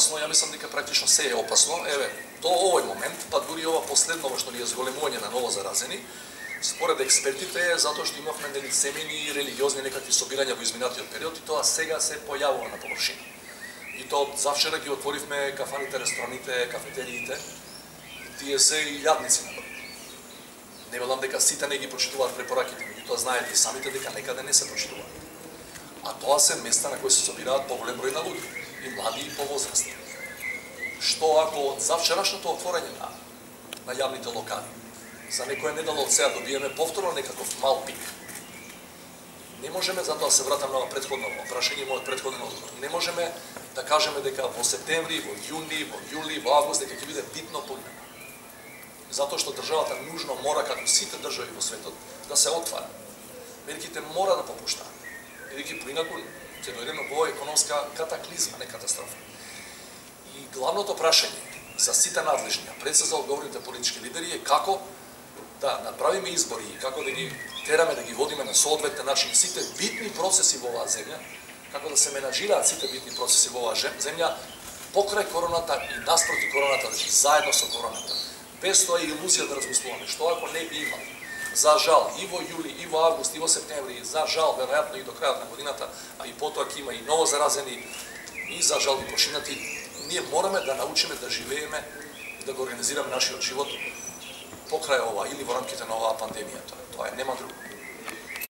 опасно, ја мислам дека практично се е опасно. Еве, до овој момент, па дури ова последно што ни е зголемување на ново заразени, според експертите е затоа што имавме нели семејни и религиозни некакви собирања во изминатиот период и тоа сега се појавува на површина. И тоа завчера ги отворивме кафаните, рестораните, кафетериите, и тие се и јадници на број. Не велам дека сите не ги почитуваат препораките, меѓутоа знаете и самите дека некаде не се почитуваат. А тоа се места на кои се собираат поголем број на луѓе, и млади и повозрастни. Што ако од завчерашното отворање на јавните локали за некоја недела од сега добиеме повторно некаков мал пик? Не можеме, затоа се вратам на претходно прашање, мојот претходен одговор. Не можеме да кажеме дека во септември, во јуни, во јули, во август дека ќе биде битно поднема. Затоа што државата нужно мора, како сите држави во светот, да се отвара. Мерките мора да попуштаат. Бидејќи поинаку ќе дојдеме во економска катаклизма, не катастрофа. И главното прашање за сите надлежни, пред се за одговорните политички лидери е како да направиме избори и како да ги тераме да ги водиме на соодветен начин сите битни процеси во оваа земја, како да се менаџираат сите битни процеси во оваа земја покрај короната и наспроти короната, значи заедно со короната. Без тоа илузија да размислуваме што ако не би имало. За жал и во јули, и во август, и во септември, за жал веројатно и до крајот на годината, а и потоа ќе има и ново заразени, и за жал и починати, ние мораме да научиме да живееме и да го организираме нашиот живот покрај ова или во рамките на оваа пандемија. Тоа е, нема друго.